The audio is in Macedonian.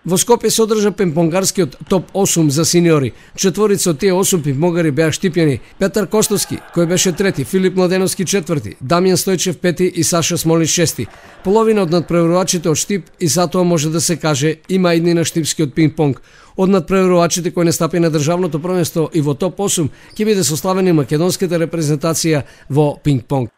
Во Скопје се одржа пинг-понгарскиот топ 8 за сениори. Четворица од тие 8 пинг-понгари беа штипјани: Петар Костовски, кој беше трети, Филип Младеновски четврти, Дамјан Стојчев пети и Саша Смолин шести. Половина од надпреварувачите од штип и затоа може да се каже има идни на штипскиот пинг-понг. Од надпреварувачите кои настапи на државното првенство и во топ 8 ќе биде составени македонската репрезентација во пинг-понг.